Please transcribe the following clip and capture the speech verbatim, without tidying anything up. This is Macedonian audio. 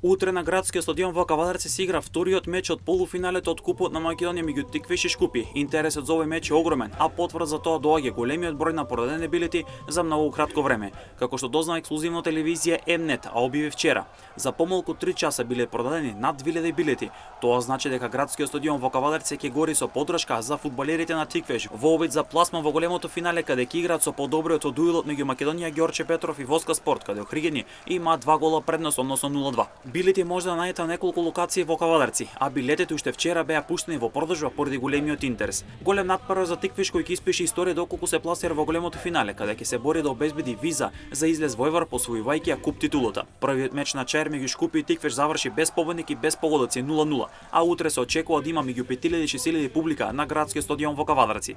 Утре на градскиот стадион во Кавадарци се игра вториот меч од полуфиналето од Купот на Македонија меѓу Тиквиш и Шкупи. Интересот за овој меч е огромен, а потврда за тоа доаѓа големиот број на продадени билети за многу кратко време, како што дознава ексклузивно телевизија М-нет, а објави вчера. За помалку три часа биле продадени над две илјади билети. Тоа значи дека градскиот стадион во Кавадарци ќе гори со поддршка за фудбалерите на Тиквиш во обид за пласман во големото финале каде ќе играат со подобриот од дуелот меѓу Македонија Ѓорче Петров и Воска Спорт, каде охригени има два гола предност, односно нула два. Билети може да најдете на неколку локации во Кавадарци, а билетите уште вчера беа пуштени во продажба поради големиот интерес. Голем натпревар за Тиквиш кој ќе испише историја доколку се пласира во големото финале, каде ќе се бори да обезбеди виза за излез во Евар посвојувајќи ја куп титулата. Првиот меч на Чаир меѓу Шкупи и Тиквиш заврши без победник и без погодоци нула нула, а утре се очекува да има меѓу пет илјади и шест илјади публика на градскиот стадион во Кавадарци.